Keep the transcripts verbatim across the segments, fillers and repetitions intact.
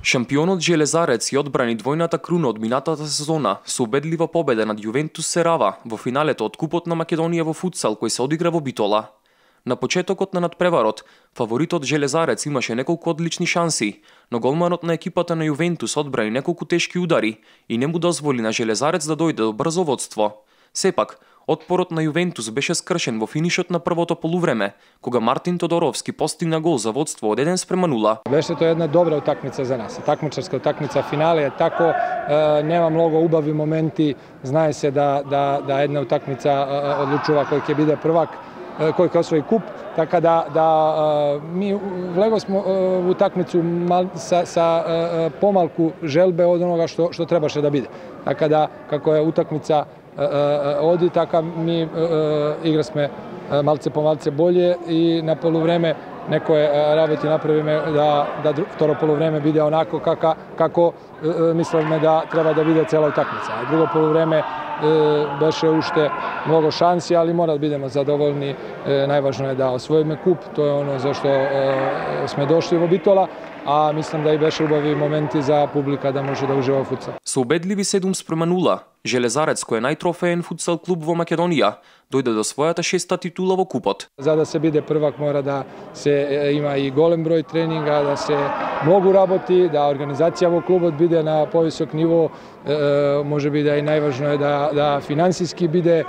Шампионот Железарец ја одбрани двојната круна од минатата сезона со убедлива победа над Јувентус Серава во финалето од Купот на Македонија во футсал кој се одигра во Битола. На почетокот на надпреварот, фаворитот Железарец имаше неколку одлични шанси, но голманот на екипата на Јувентус одбрани неколку тешки удари и не му дозволи на Железарец да дојде до брзо водство. Сепак, отпорот на Јувентус беше скршен во финишот на првото полувреме, кога Мартин Тодоровски постигна гол за водство од еден спрема нула. Беше тоа една добра утакмица за нас. Такмичарска утакмица, финале е тако, е, нема многу убави моменти, знае се да да да една утакмица е, одлучува кој ќе биде првак, е, кој ќе освои куп, така да да е, ми влеговме во утакмицу са са е, помалку желбе од онога што што требаше да биде. Така да како е утакмица оди, така ми играсме малце по малце болje и на полувреме некои работи направиме да да второ полувреме биде онако како како мислевме да треба да биде цела утакмица. А друго полувреме беше уште многу шанси, али мора да бидеме задоволни. Најважно е да освоиме куп, тоа е оно за што сме дошли во Битола, а мислам да и беше убави моменти за публика да може да ужива во футсал. Со убедливи седум спрема нула, Железарец, кој е најтрофеен футсал клуб во Македонија, дојде до својата шеста титула во купот. За да се биде првак мора да се има и голем број тренинга, да се многу работи, да организација во клубот биде на повисок ниво, може би да и најважно е да да финансиски биде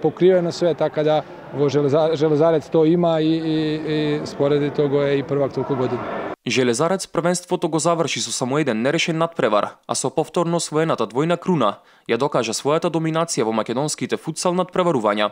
покриено све, така да во Железарец тоа има и, и, и спореди тоа е и првак толку години. Железарец првенството го заврши со само еден нерешен надпревар, а со повторно освоената двојна круна ја докажа својата доминација во македонските футсал надпреварувања.